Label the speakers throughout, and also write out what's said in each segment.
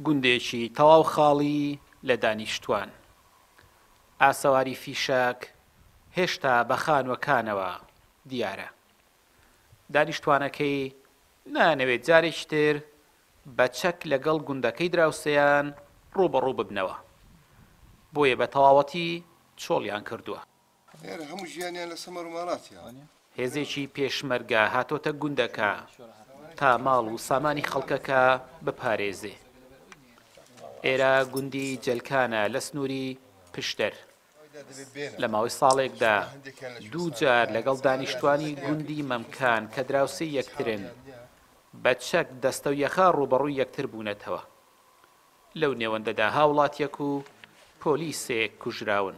Speaker 1: گوندێکی تەواو خاڵی لە دانیشتوان. ئاسەواری فیشەک هێشتا بە خانووەکانەوە دیارە. دانیشتوانەکەی نایانەوێت جارێکی تر بە چەک لەگەڵ گوندەکەی دراوسێیان ڕووبەڕوو ببنەوە، بۆیە بە تەواوەتی چۆڵیان کردووە.
Speaker 2: ئێرە هەموو ژیانیان لە سەمەر و ماڵاتیە.
Speaker 1: هێزێکی پێشمەرگە هاتۆتە گوندەکە تا ماڵ و سامانی خەڵکەکە بپارێزێ. ئێرە گوندی جەلکانە لە سنووری پشدەر. لە ماوەی ساڵێکدا دوو جار لەگەڵ دانیشتوانی گوندی مەمکان کە دراوسێی یەکترن بە چەک دەستەویەخە ڕووبەڕووی یەکتر بوونەتەوە. لەو نێوەندەدا هاوڵاتیەک و پۆلیسێک کوژراون.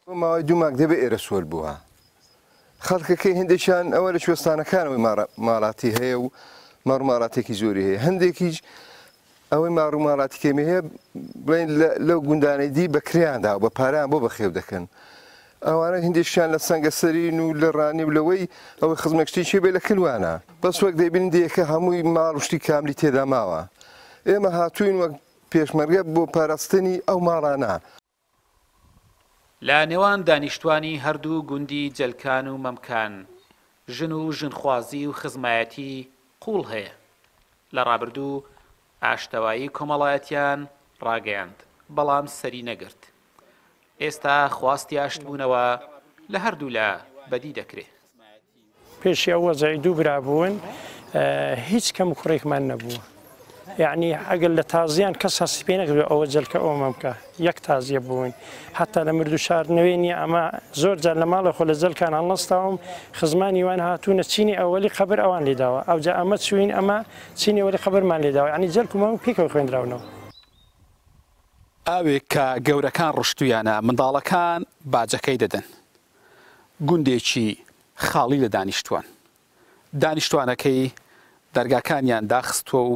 Speaker 2: بۆ ماوەی دوو مانگ دەبێ ئێرە سۆل بووە. خەڵکەکەی هەندێکیان ئەوە لە کوێستانەکانەوەی ماڵاتی هەیە و مەڕ ماڵاتێکی زۆری هەیە هەندێکیش ئەوەی ماڕ و ماڵاتی کەمی هەیە بڵێن لەو گوندانەی دی بە کرێیان داوە بە پارەیان بۆ بەخێو دەکەن ئەوانە هەندێکیان لە سەنگەسەرین و لە ڕانی و لەوەی ئەوەی خزمێک شتێکی بێ لە کلوانە بەس وەک دەیبینن دێیەکە هەمووی ماڵ و شتی کاملی تێدا ماوە ئێمە هاتووین وەک پێشمەرگە بۆ پاراستنی ئەو ماڵانە.
Speaker 1: لە نێوان دانیشتوانی هەردوو گوندی جەلکان و مەمکان ژن و ژنخوازی و خزمایەتی قووڵ هەیە. لە ڕابردوو ئاشتەوایی کۆمەڵایەتیان ڕاگەیاند، بەڵام سەری نەگرت. ئێستا خواستی ئاشتبوونەوە لە هەردوولا بەدی دەکرێ.
Speaker 3: پێشی ئەو وەزعی دوو برا بوون هیچ کەم و کوڕێکمان نەبووە یعنی ئەگەر لە تازیان کەس هەستی پێ نەکردووە ئەوە جەلکە ئەوە مەمکە یەک تازیە بوون حتا لە مرد و شاردنەوەی نییە ئەمە زۆر جار لە ماڵە خۆ لە جەلکان هەڵنەستاوم خزمانی وان هاتوونە چینی ئەوەلی قەبر ئەوان لێداوە ئەوجا ئەمە چوین ئەمە چینی ئەوەلی قەبرمان لێداوە یعنی جەلک و مەمک پێکەوە خوێندراونەوە.
Speaker 1: ئاوێک کە گەورەکان ڕشتوویانە، منداڵەکان باجەکەی دەدەن. گوندێکی خاڵی لە دانیشتووان. دانیشتووانەکەی دەرگاکانیان داخستووە و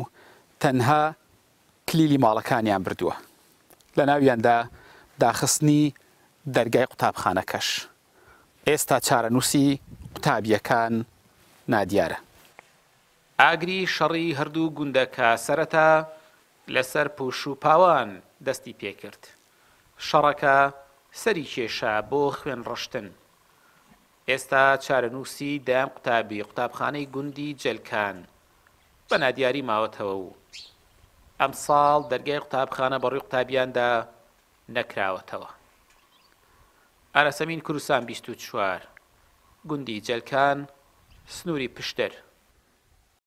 Speaker 1: تەنها کلیلی ماڵەکانیان بردووە. لەناویاندا داخستنی دەرگای قوتابخانەکەش. ئێستا چارەنووسی قوتابییەکان نادیارە. ئاگری شەڕی هەردوو گوندەکە سەرەتا لەسەر پوش و پاوان دەستی پێکرد. شەڕەکە سەری کێشا بۆ خوێنڕشتن. ئێستا چارەنووسی دەیان قوتابی قوتابخانەی گوندی جەلکان بە نادیاری ماوەتەوە و ئەمساڵ دەرگای قوتابخانە بەڕووی قوتابیاندا نەکراوەتەوە. ئاراسەمین کوردستان 24، گوندی جەلکان، سنووری پشدەر.